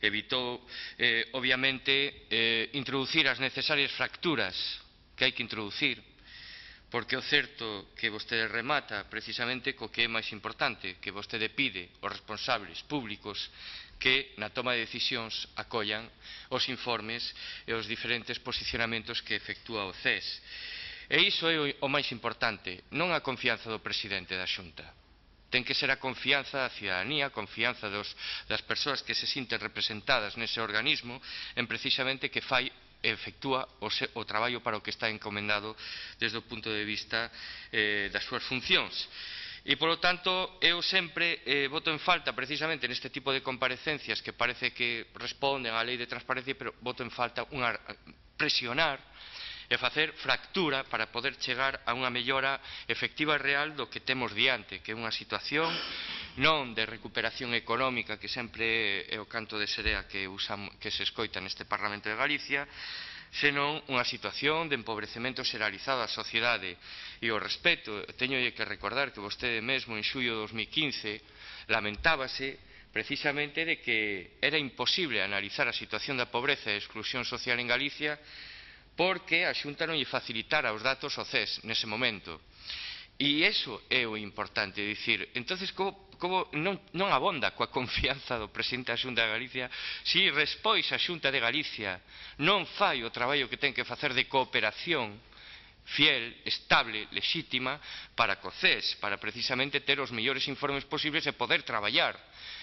evitou, obviamente, introducir as necesarias fracturas que hai que introducir, porque o certo que vostede remata precisamente co que é máis importante, que vostede pide aos responsables públicos que na toma de decisións acollan os informes e os diferentes posicionamentos que efectúa o CES. E iso é o máis importante, non a confianza do presidente da Xunta. Ten que ser a confianza da cidadanía, a confianza das persoas que se sinten representadas nese organismo en precisamente que efectúa o traballo para o que está encomendado desde o punto de vista das súas funcións. E, polo tanto, eu sempre voto en falta, precisamente neste tipo de comparecencias que parece que responden á lei de transparencia, pero voto en falta presionar e facer fractura para poder chegar a unha mellora efectiva e real do que temos diante, que é unha situación non de recuperación económica, que sempre é o canto de serea que se escoita neste Parlamento de Galicia, senón unha situación de empobrecemento xeralizado da sociedade. E o respecto, teño que recordar que vostede mesmo en xullo de 2015 lamentábase precisamente de que era imposible analizar a situación da pobreza e exclusión social en Galicia porque a Xunta non lle facilitara os datos ao CES nese momento. E iso é o importante, dicir, entonces como non abonda coa confianza do presidente da Xunta de Galicia se despois a Xunta de Galicia non fai o traballo que ten que facer de cooperación fiel, estable, lexítima para co CES, para precisamente ter os mellores informes posibles e poder traballar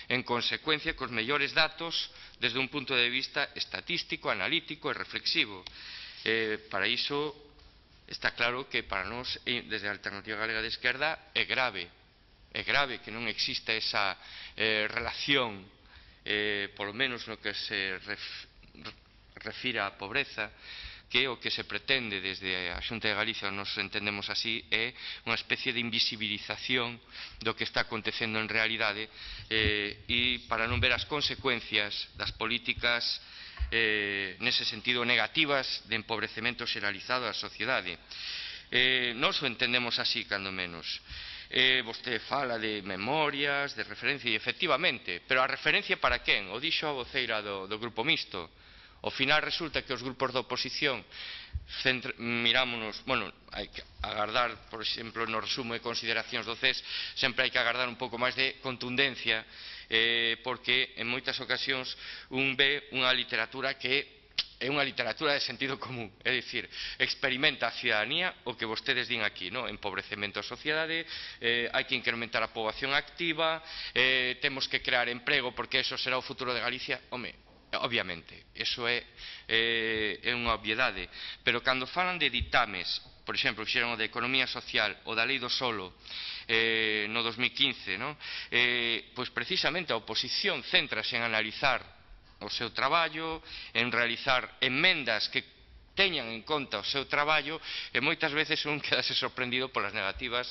en consecuencia cos mellores datos desde un punto de vista estatístico, analítico e reflexivo. Para iso está claro que para nós, desde a Alternativa Galega de Esquerda, é grave que non exista esa relación, polo menos no que se refira á pobreza, que o que se pretende desde a Xunta de Galicia, nos entendemos así, é unha especie de invisibilización do que está acontecendo en realidade e para non ver as consecuencias das políticas nese sentido negativas de empobrecemento xeralizado da sociedade. Nós o entendemos así, cando menos. Vostede fala de memorias, de referencia, e efectivamente, pero a referencia para quen? O dixo a voceira do Grupo Mixto. Ao final resulta que os grupos da oposición mirámonos, hai que agardar, por exemplo, no resumo de consideracións do CES, sempre hai que agardar un pouco máis de contundencia, porque en moitas ocasións un ve unha literatura que é unha literatura de sentido común, é dicir, experimenta a cidadanía o que vostedes din aquí, empobrecemento da sociedade, hai que incrementar a poboación activa, temos que crear emprego porque eso será o futuro de Galicia. Home, obviamente, eso é unha obviedade, pero cando falan de ditames, por exemplo, fixeron o de Economía Social ou da Lei do Solo no 2015, pois precisamente a oposición céntrase en analizar o seu traballo, en realizar enmendas que teñan en conta o seu traballo e moitas veces un quedase sorprendido polas negativas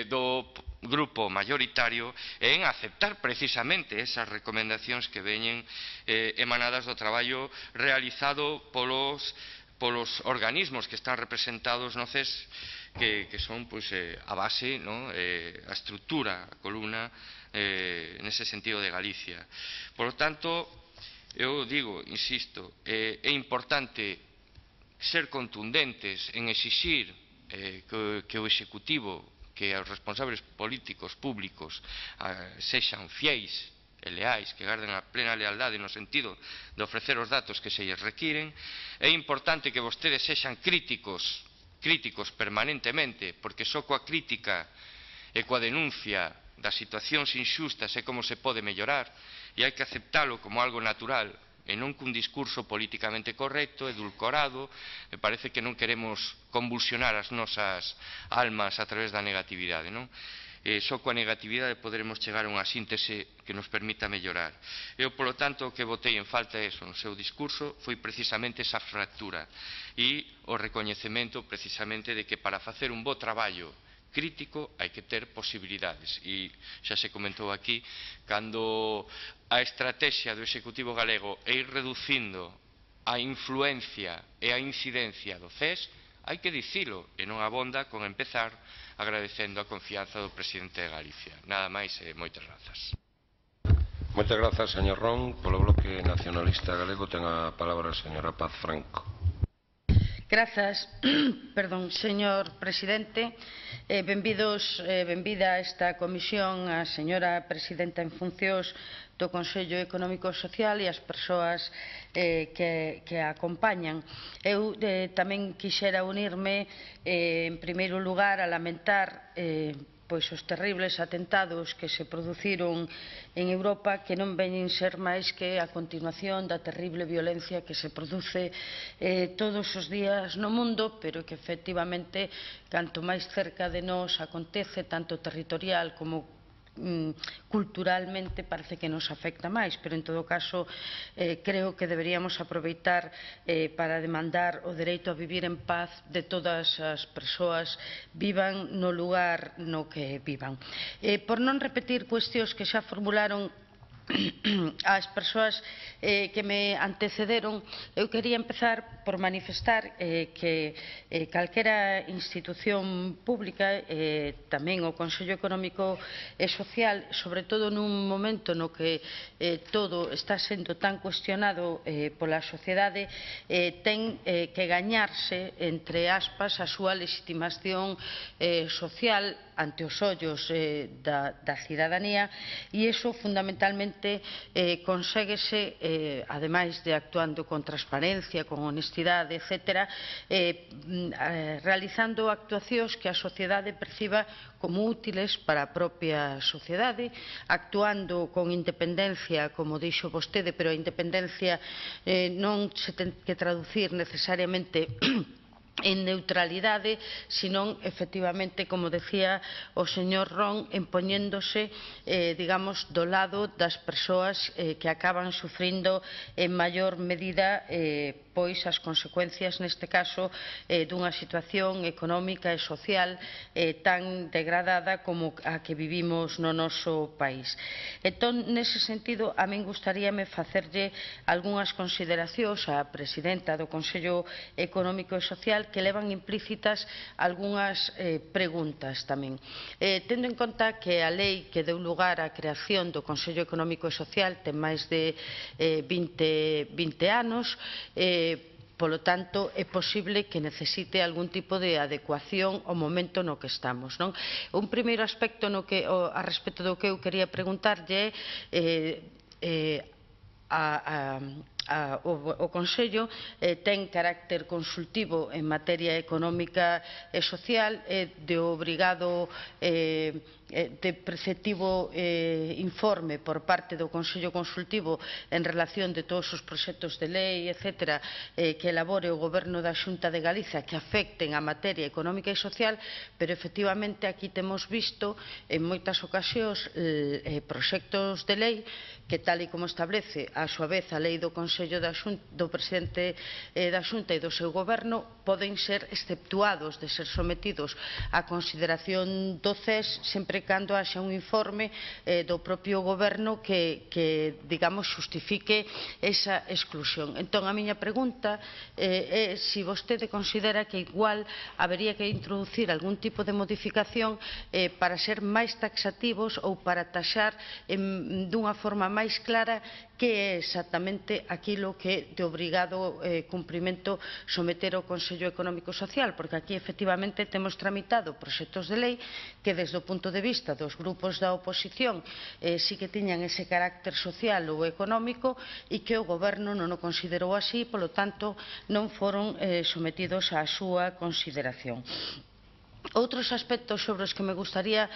do grupo mayoritario en aceptar precisamente esas recomendacións que veñen emanadas do traballo realizado polos organismos que están representados no CES, que son a base, a estrutura, a columna nese sentido de Galicia. Por lo tanto, eu digo, insisto, é importante ser contundentes en exixir que o Executivo, que os responsables políticos públicos sexan fiéis e leais, que garden a plena lealdade no sentido de ofrecer os datos que se lles requiren. É importante que vostedes sexan críticos permanentemente, porque só coa crítica e coa denuncia das situacións inxustas é como se pode mellorar, e hai que aceptalo como algo natural e non cun discurso políticamente correcto, edulcorado. Me parece que non queremos convulsionar as nosas almas a través da negatividade, só coa negatividade poderemos chegar a unha síntese que nos permita mellorar. Eu, polo tanto, o que botei en falta no seu discurso foi precisamente esa fractura e o recoñecemento precisamente de que para facer un bo traballo crítico hai que ter posibilidades, e xa se comentou aquí, cando a estrategia do Executivo galego é ir reducindo a influencia e a incidencia do CES, hai que dicilo, e non abonda con empezar agradecendo a confianza do presidente de Galicia. Nada máis e moitas grazas. Moitas grazas, señor Ron. Polo Bloque Nacionalista Galego ten a palabra a señora Paz Franco. Grazas, señor presidente. Benvida a esta comisión a señora presidenta en funcións do Consello Económico e Social e as persoas que a acompañan. Eu tamén quixera unirme, en primeiro lugar, a lamentar os terribles atentados que se produciron en Europa, que non veñen ser máis que a continuación da terrible violencia que se produce todos os días no mundo, pero que efectivamente canto máis cerca de nós acontece, tanto territorial como culturalmente, parece que nos afecta máis, pero en todo caso creo que deberíamos aproveitar para demandar o dereito a vivir en paz de todas as persoas, vivan no lugar no que vivan. Por non repetir cuestións que xa formularon as persoas que me antecederon, eu quería empezar por manifestar que calquera institución pública, tamén o Consello Económico e Social, sobre todo nun momento no que todo está sendo tan cuestionado pola sociedade, ten que gañarse, entre aspas, a súa legitimación social ante os ollos da cidadanía, e iso fundamentalmente conséguese, ademais de actuando con transparencia, con honestidade, etc., realizando actuacións que a sociedade perciba como útiles para a propia sociedade, actuando con independencia, como dixo vostede, pero a independencia non se ten que traducir necesariamente en neutralidade, senón, efectivamente, como decía o señor Ron, impoñéndose, digamos, do lado das persoas que acaban sufrindo en maior medida as consecuencias, neste caso, dunha situación económica e social tan degradada como a que vivimos no noso país. Entón, nese sentido, a min gustaríame facerlle algunhas consideracións á presidenta do Consello Económico e Social que levan implícitas algunhas preguntas tamén. Tendo en conta que a lei que deu lugar á creación do Consello Económico e Social ten máis de 20 anos, polo tanto, é posible que necesite algún tipo de adecuación ao momento no que estamos. Un primeiro aspecto a respecto do que eu quería preguntarlle o Consello ten carácter consultivo en materia económica e social, de obrigado de preceptivo informe por parte do Consello Consultivo en relación de todos os proxectos de lei, etc., que elabore o Goberno da Xunta de Galicia que afecten a materia económica e social, pero efectivamente aquí temos visto en moitas ocasións proxectos de lei que, tal e como establece a súa vez a lei do Consello do Presidente da Xunta e do seu Goberno, poden ser exceptuados de ser sometidos a consideración do CES sempre cando haxa un informe do propio Goberno que, digamos, xustifique esa exclusión. Entón, a miña pregunta é se vostede considera que igual habería que introducir algún tipo de modificación para ser máis taxativos ou para taxar dunha forma máis clara que é exactamente aquilo que de obrigado cumprimento someter ao Consello Económico e Social, porque aquí efectivamente temos tramitado proxectos de lei que desde o punto de vista dos grupos da oposición sí que tiñan ese carácter social ou económico e que o Goberno non o considerou así, polo tanto non foron sometidos á súa consideración. Outros aspectos sobre os que me gustaría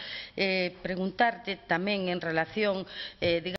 preguntarlle tamén en relación, digamos,